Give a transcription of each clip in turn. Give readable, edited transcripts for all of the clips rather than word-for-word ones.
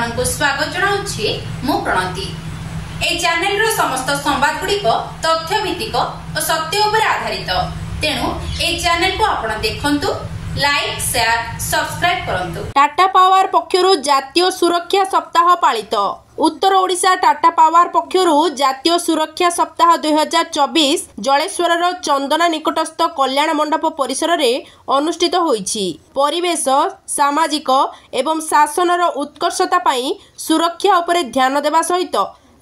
ଆପଣମାନଙ୍କୁ ସ୍ୱାଗତ ଜଣାଉଛି ମୁଁ ପ୍ରଣତି। ଏହି ଚ୍ୟାନେଲର ସମସ୍ତ ସମ୍ବାଦ ଗୁଡ଼ିକ ତଥ୍ୟ ଭିତ୍ତିକ ଓ ସତ୍ୟ ଉପରେ ଆଧାରିତ, ତେଣୁ ଏହି ଚ୍ୟାନେଲକୁ ଆପଣ ଦେଖନ୍ତୁ, ଲାଇକ୍, ସେୟାର, ସବସ୍କ୍ରାଇବ କରନ୍ତୁ। ଟାଟା ପାୱାର ପକ୍ଷରୁ ଜାତୀୟ ସୁରକ୍ଷା ସପ୍ତାହ ପାଳିତ। ଉତ୍ତର ଓଡ଼ିଶା ଟାଟା ପାୱାର ପକ୍ଷରୁ ଜାତୀୟ ସୁରକ୍ଷା ସପ୍ତାହ 2024 ଜଳେଶ୍ୱରର ଚନ୍ଦନା ନିକଟସ୍ଥ କଲ୍ୟାଣ ମଣ୍ଡପ ପରିସରରେ ଅନୁଷ୍ଠିତ ହୋଇଛି। ପରିବେଶ, ସାମାଜିକ ଏବଂ ଶାସନର ଉତ୍କର୍ଷତା ପାଇଁ ସୁରକ୍ଷା ଉପରେ ଧ୍ୟାନ ଦେବା ସହିତ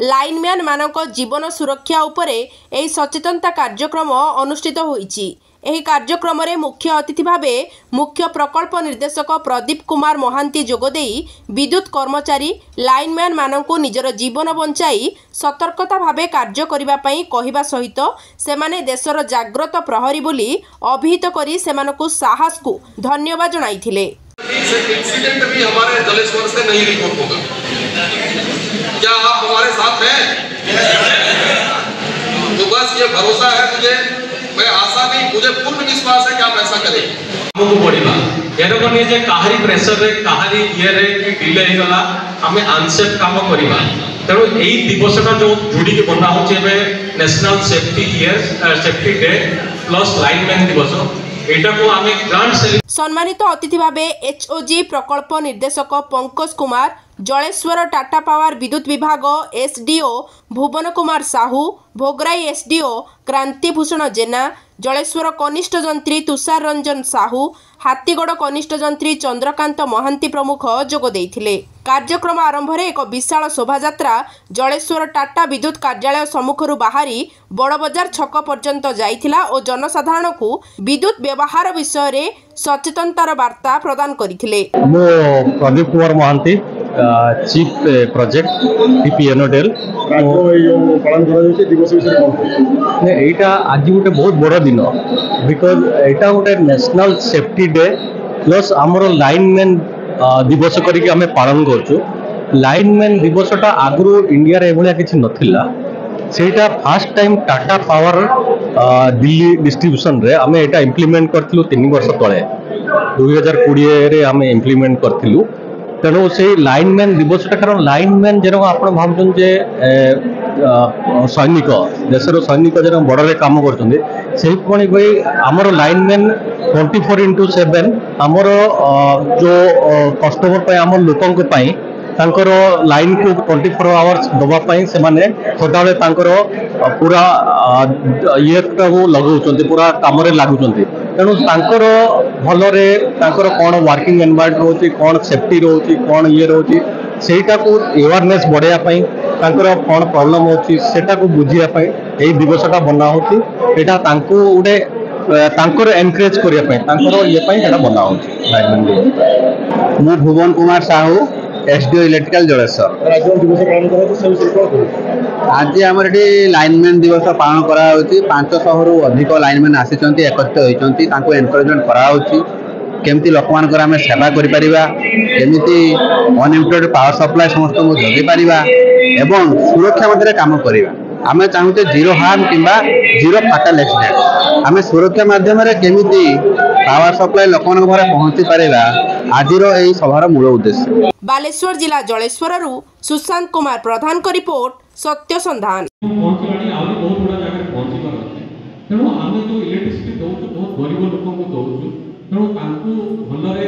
ଲାଇନମ୍ୟାନ୍ ମାନଙ୍କ ଜୀବନ ସୁରକ୍ଷା ଉପରେ ଏହି ସଚେତନତା କାର୍ଯ୍ୟକ୍ରମ ଅନୁଷ୍ଠିତ ହୋଇଛି। ଏହି କାର୍ଯ୍ୟକ୍ରମରେ ମୁଖ୍ୟ ଅତିଥି ଭାବେ ମୁଖ୍ୟ ପ୍ରକଳ୍ପ ନିର୍ଦ୍ଦେଶକ ପ୍ରଦୀପ କୁମାର ମହାନ୍ତି ଯୋଗଦେଇ ବିଦ୍ୟୁତ କର୍ମଚାରୀ, ଲାଇନମ୍ୟାନ୍ ମାନଙ୍କୁ ନିଜର ଜୀବନ ବଞ୍ଚାଇ ସତର୍କତା ଭାବେ କାର୍ଯ୍ୟ କରିବା ପାଇଁ କହିବା ସହିତ ସେମାନେ ଦେଶର ଜାଗ୍ରତ ପ୍ରହରୀ ବୋଲି ଅଭିହିତ କରି ସେମାନଙ୍କୁ ସାହସକୁ ଧନ୍ୟବାଦ ଜଣାଇଥିଲେ। इंसिडेंट भी हमारे जलेश्वर से नहीं रिपोर्ट होगा। क्या आप हमारे साथ हैं? तो बस ये भरोसा है मुझे, मैं आशा नहीं, मुझे पूर्ण विश्वास है कि आप ऐसा करेंगे। ଆମକୁ ବଢିବା ଏରକ ନୁହେଁ ଯେ କାହାରି ପ୍ରେସରରେ, କାହାରି ଇଏରେ କି ଡିଲେ ହେଇଗଲା ଆମେ ଅନସେଫ୍ କାମ କରିବା। ତେଣୁ ଏଇ ଦିବସଟା ଯୋଉ ଯୋଡ଼ିକି ବନା ହଉଛି ଏବେ, National Safety Year, Safety Day plus Lineman ଦିବସ, ଏଇଟାକୁ ଆମେ ଗ୍ରାଣ୍ଡ ସମ୍ମାନିତ ଅତିଥି ଭାବେ ଏଚ୍ଓଜି ପ୍ରକଳ୍ପ ନିର୍ଦ୍ଦେଶକ ପଙ୍କଜ କୁମାର, ଜଳେଶ୍ୱର ଟାଟା ପାୱାର ବିଦ୍ୟୁତ ବିଭାଗ ଏସ୍ଡିଓ ଭୁବନ କୁମାର ସାହୁ, ଭୋଗରାଇ ଏସ୍ଡିଓ କ୍ରାନ୍ତିଭୂଷଣ ଜେନା, ଜଳେଶ୍ୱର କନିଷ୍ଠ ଯନ୍ତ୍ରୀ ତୁଷାର ରଞ୍ଜନ ସାହୁ, ହାତୀଗଡ଼ କନିଷ୍ଠ ଯନ୍ତ୍ରୀ ଚନ୍ଦ୍ରକାନ୍ତ ମହାନ୍ତି ପ୍ରମୁଖ ଯୋଗ ଦେଇଥିଲେ। କାର୍ଯ୍ୟକ୍ରମ ଆରମ୍ଭରେ ଏକ ବିଶାଳ ଶୋଭାଯାତ୍ରା ଜଳେଶ୍ୱର ଟାଟା ବିଦ୍ୟୁତ କାର୍ଯ୍ୟାଳୟ ସମ୍ମୁଖରୁ ବାହାରି ବଡ଼ବଜାର ଛକ ପର୍ଯ୍ୟନ୍ତ ଯାଇଥିଲା ଓ ଜନସାଧାରଣଙ୍କୁ ବିଦ୍ୟୁତ ବ୍ୟବହାର ବିଷୟରେ ସଚେତନତାର ବାର୍ତ୍ତା ପ୍ରଦାନ କରିଥିଲେ। ମୁଁ Pradeep Kumar Mohanty, chief project, TPNODL. ଏଇ ଯୋଉ ପାଳନ କରାଯାଉଛି ଦିବସ ବିଷୟରେ କଣ କହିବେ? ଏଇଟା ଆଜି ଗୋଟେ ବହୁତ ବଡ଼ ଦିନ, because ଏଇଟା ଗୋଟେ ନ୍ୟାସନାଲ ସେଫ୍ଟି ଡେ ପ୍ଲସ୍ ଆମର ଲାଇନମ୍ୟାନ୍ ଦିବସ କରିକି ଆମେ ପାଳନ କରୁଛୁ। ଲାଇନମ୍ୟାନ୍ ଦିବସଟା ଆଗରୁ ଇଣ୍ଡିଆରେ ଏଭଳିଆ କିଛି ନଥିଲା। ସେଇଟା first time Tata power Delhi ଡିଷ୍ଟ୍ରିବ୍ୟୁସନରେ ଆମେ ଏଇଟା ଇମ୍ପ୍ଲିମେଣ୍ଟ କରିଥିଲୁ 3 ବର୍ଷ ତଳେ, 2020ରେ ଆମେ ଇମ୍ପ୍ଲିମେଣ୍ଟ କରିଥିଲୁ। ତେଣୁ ସେଇ ଲାଇନମ୍ୟାନ୍ ଦିବସଟା, କାରଣ ଲାଇନମ୍ୟାନ୍ ଯେରକମ ଆପଣ ଭାବୁଛନ୍ତି ଯେ ସୈନିକ, ଦେଶର ସୈନିକ ଯେରକମ ବର୍ଡରରେ କାମ କରୁଛନ୍ତି, ସେଇଭଳି ଭାଇ ଆମର ଲାଇନମ୍ୟାନ୍ 24x7 ଆମର ଯୋଉ କଷ୍ଟମର ପାଇଁ, ଆମ ଲୋକଙ୍କ ପାଇଁ, ତାଙ୍କର ଲାଇନକୁ 24 ଆୱାର୍ସ ଦେବା ପାଇଁ ସେମାନେ ସଦାବେଳେ ତାଙ୍କର ପୁରା ଇଏଟାକୁ ଲଗାଉଛନ୍ତି, ପୁରା କାମରେ ଲାଗୁଛନ୍ତି। ତେଣୁ ତାଙ୍କର ଭଲରେ ତାଙ୍କର କ'ଣ ୱାର୍କିଂ ଏନଭାୟରମେଣ୍ଟ ରହୁଛି, କ'ଣ ସେଫ୍ଟି ରହୁଛି, କ'ଣ ଇଏ ରହୁଛି, ସେଇଟାକୁ ଆୱାରନେସ୍ ବଢ଼େଇବା ପାଇଁ, ତାଙ୍କର କ'ଣ ପ୍ରୋବ୍ଲେମ୍ ହେଉଛି ସେଟାକୁ ବୁଝିବା ପାଇଁ ଏଇ ଦିବସଟା ବନା ହେଉଛି। ଏଇଟା ତାଙ୍କୁ ଗୋଟେ ତାଙ୍କର ଏନକରେଜ କରିବା ପାଇଁ, ତାଙ୍କର ଇଏ ପାଇଁ ଏଇଟା ବନା ହେଉଛି ଲାଇନମ୍ୟାନ୍ ଦିବସ। ମୁଁ ଭୁବନ କୁମାର ସାହୁ, ଏସଡିଓ ଇଲେକ୍ଟ୍ରିକାଲ, ଜଳେଶ୍ୱର। ଆଜି ଯୋଉ ଦିବସ ପାଳନ କରାଯାଉଛି ସେ ବିଷୟରେ କଣ କହିବେ? ଆଜି ଆମର ଏଠି ଲାଇନମ୍ୟାନ୍ ଦିବସ ପାଳନ କରାଯାଉଛି। 500ରୁ ଅଧିକ ଲାଇନମ୍ୟାନ୍ ଆସିଛନ୍ତି, ଏକତ୍ରିତ ହୋଇଛନ୍ତି। ତାଙ୍କୁ ଏନକରେଜମେଣ୍ଟ କରାଯାଉଛି କେମିତି ଲୋକମାନଙ୍କର ଆମେ ସେବା କରିପାରିବା, କେମିତି ଅନଇଣ୍ଟରପ୍ଟେଡ୍ ପାୱାର ସପ୍ଲାଏ ସମସ୍ତଙ୍କୁ ଯୋଗାଇ ପାରିବା ଏବଂ ସୁରକ୍ଷା ମଧ୍ୟରେ କାମ କରିବା। ଆମେ ଚାହୁଁଛେ ଜିରୋ ହାର୍ମ କିମ୍ବା ଜିରୋ ଫାଟାଲ ଆକ୍ସିଡେଣ୍ଟ। ଆମେ ସୁରକ୍ଷା ମାଧ୍ୟମରେ କେମିତି ପାୱାର ସପ୍ଲାଏ ଲୋକମାନଙ୍କ ଘରେ ପହଞ୍ଚି ପାରିବା, ଆଜିର ଏହି ସଭାର ମୂଳ ଉଦ୍ଦେଶ୍ୟ। ବାଲେଶ୍ୱର ଜିଲ୍ଲା ଜଳେଶ୍ୱରରୁ ସୁଶାନ୍ତ କୁମାର ପ୍ରଧାନଙ୍କ ରିପୋର୍ଟ, ସତ୍ୟ ସନ୍ଧାନ। ପହଞ୍ଚିଲାଣି, ଆହୁରି ବହୁତ ଗୁଡ଼ା ଜାଗାରେ ପହଞ୍ଚିବାର ଅଛି। ତେଣୁ ଆମେ ଯୋଉ ଇଲେକ୍ଟ୍ରିସିଟି ଦଉଛୁ, ବହୁତ ଗରିବ ଲୋକଙ୍କୁ ଦଉଛୁ, ତେଣୁ ତାଙ୍କୁ ଭଲରେ